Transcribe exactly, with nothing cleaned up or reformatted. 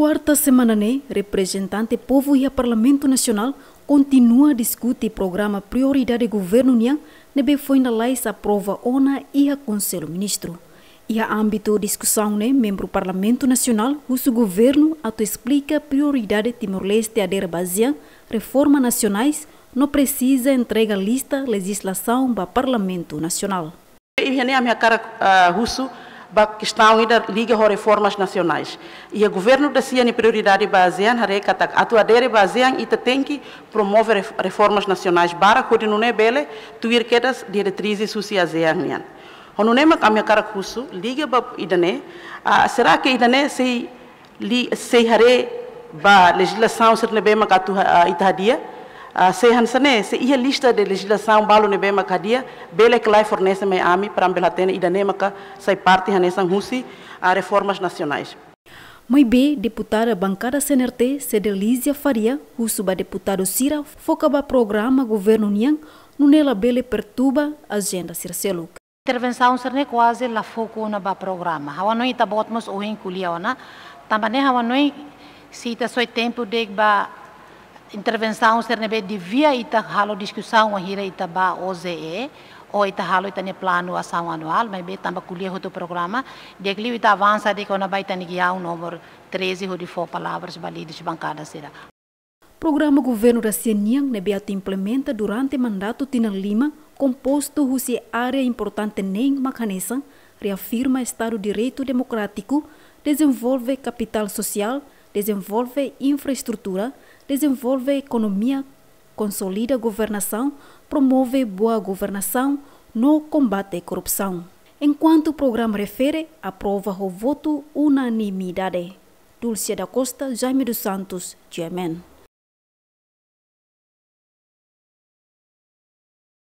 Kuarta semana ne'e, reprezentante povu iha Parlamentu Nasionál kontinua diskute programa prioridade governu nian ne'ebé foin lalais aprova ona iha Konsellu Ministru. Iha ámbitu diskusaun ne'e, membru Parlamentu Nasionál husu governu atu esplika prioridade Timor-Leste adere ba ASEAN, reforma nasionais, no presiza entrega lista lejizlasaun ba Parlamentu Nasionál. Iha ne'e ami hakarak, ah, husu ba kestaun ida liga ho reformas nasionais. Iha governu da sia nia prioridade ba ASEAN haree katak atu adere ba ASEAN ita tenke promove ref-, reformas nasionais barak hodi nune'e bele tuir kedas diretrizes husi ASEAN nian. Ho nune'e mak ami hakarak husu liga ba ida-ne'e, ah, será que ida-ne'e sei li-, sei haree ba lejizlasaun sira ne'ebé mak atu ha-, ah, ita hadi'a, ah, se hanesan ne'e, se iha lista de lejizlasaun balu ne'ebé mak hadi'a, bele ka lae fornese mai ami para ami bele hatene ida-ne'e maka sai parte hanesan husi, ah, reformas nasionais. Maibé, deputada bankada C N R T, Cedelizia Faria, husu ba deputadu sira foka ba programa governu nian, nune'e labele perturba ajenda sira seluk. Intervensaun sira-ne'e kuaze la foku ona ba programa. Ha'u hanoin ita-boot mós ohin ko'alia ona. Tanba ne'e ha'u hanoin se ita soe tempu de'it ba intervensaun sira ne'ebé devia ita halo diskusaun wainhira ita ba O J E, ou ita halo ita-nia planu asaun anuál, maibé tanba ko'alia hotu programa, di'ak liu ita avansa de'it kona-ba ita-nia giaun númeru treze hodi fó palavras ba líderes bankada sira. Programa governu da sia nian ne'ebé atu implementa durante mandatu tinan lima, kompostu husi área importante neen mak hanesan, reafirma Estadu Direitu Demokrátiku, dezenvolve kapitál sosiál, dezenvolve infraestrutura, dezenvolve ekonomia, konsolida governasaun, promove boa governasaun, no kombate korrupsaun. Enkuantu programa refere, aprova ho votu unanimidade. Dulce da Costa, Jaime dos Santos, G M N.